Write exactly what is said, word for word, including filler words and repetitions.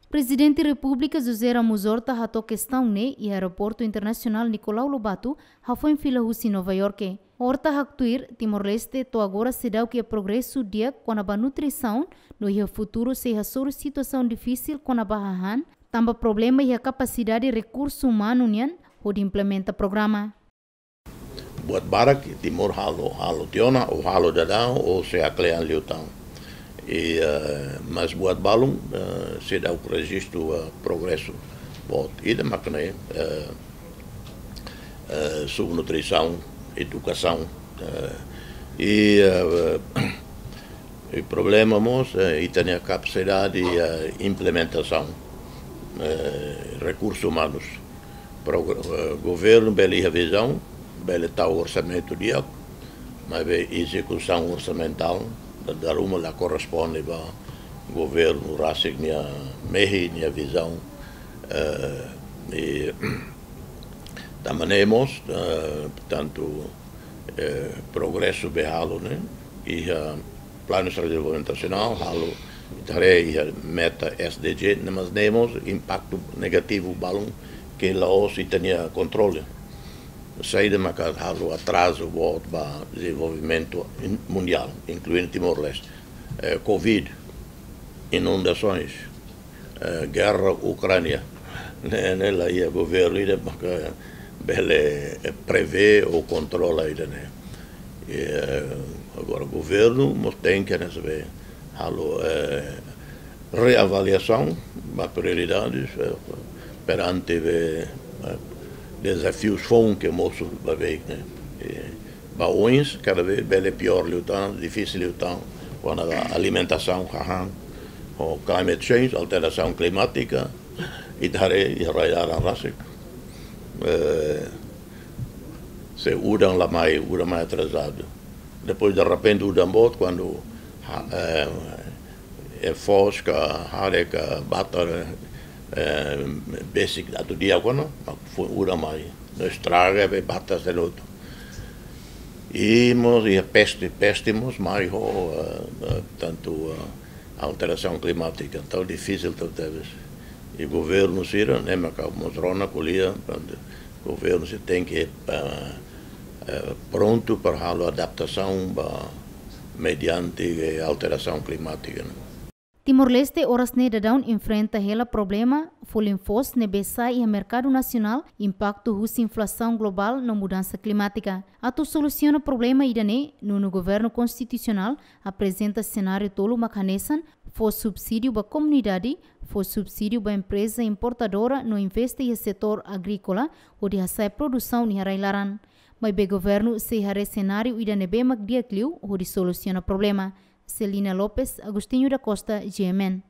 Prezidente Repúblika José Ramos Horta hato'o kestaun ne'e iha Aeroportu Internasionál Nicolau Lobato, hafoin fila husi Nova Iorke. Horta haktuir, Timor-Leste to'o agora seidauk iha progresu di'ak kona-ba nutrisaun, no iha futuru sei hasoru situasaun difisil kona-ba hahán, tanba problema iha kapasidade rekursu umanu nian hodi implementa programa. Buat barak Timor halo, halo tiha ona, ou halo daudaun, ou sei kle'an liután. I, eh, mas buat balun, eh, seidauk rejistu, eh, progresu boot. Ida mak ne'e, eh, eh, subnutrisaun, edukasaun, eh, i, eh, i problema mós, eh, ita-nia kapasidade, eh, implementasaun, eh, rekursu umanus. Pro-, eh, governu bele iha vizaun, bele tau orsamentu di'ak, maibé ezekusaun orsamentál, da-, dala ruma la korresponde ba governu rasik nia mehi, nia vizaun, eh, i tanba ne'e mós, eh, portantu, eh, progresu be halo ne'e, iha Planu Estratéjiku Dezenvolvimentu Nasionál, halo, ita haree iha meta S D G, ne'e mas ne'e mós impaktu negativu balun ke la'ós ita-nia kontrole. Saida maka halo atrazu boot ba dezenvolvimentu in-, mundiál, inklui Timor-Leste. Eh, covid, inundasoens, eh, gerra Ukránia. Ne'e, ne'e la iha governu ida maka bele, eh, prevee ou kontrola ida-ne'e. Eh, agora, governu mós tenke, ne'e, sabe, halo, eh, reavaliasaun ba prioridades, eh, perante be, eh, dezafius foun ke mosu ba beik ne'e. Eh, ba oins, kada vez bele piór liután, difisil liután, kona-ba alimentasaun, hahán, ho climate change, alterasaun klimátika, ita haree iha rai laran rasik. Eh, se udan la mai, udan mai atrasadu. Depois, derrepente, udan boot, kuandu ha-, eh, eh, foos ka hare ka batar, eh, besik atu di'ak ona, mak foin udan mai. No estraga be batar sei lotu. I mós, i peste, peste mós mai ho, eh, eh, tantu, eh, alterasaun klimátika, entaun difisil tebes. I governu sira, ne'e maka mós rona ko'alia, portantu, governu sira tenke, eh, eh, prontu para halo adaptasaun ba mediante, eh, alterasaun klimátika, ne'e. Timor-Leste oras ne'e daudaun enfrenta hela problema folin foos ne'ebé sai iha merkadu nasionál, impaktu husi inflasaun globál no mudansa klimátika. Atu solusiona problema ida-ne'e, nonu governu konstitusionál aprezenta senáriu tolu mak hanesan: fó subsídiu ba komunidade, fó subsídiu ba empreza importadora no investe iha setór agríkola, hodi hasa'e produsaun iha rai laran. Maibé governu sei haree senáriu ida ne'ebé mak di'ak liu hodi solusiona problema. Celina Lopes, Agostinho da Costa, G M N.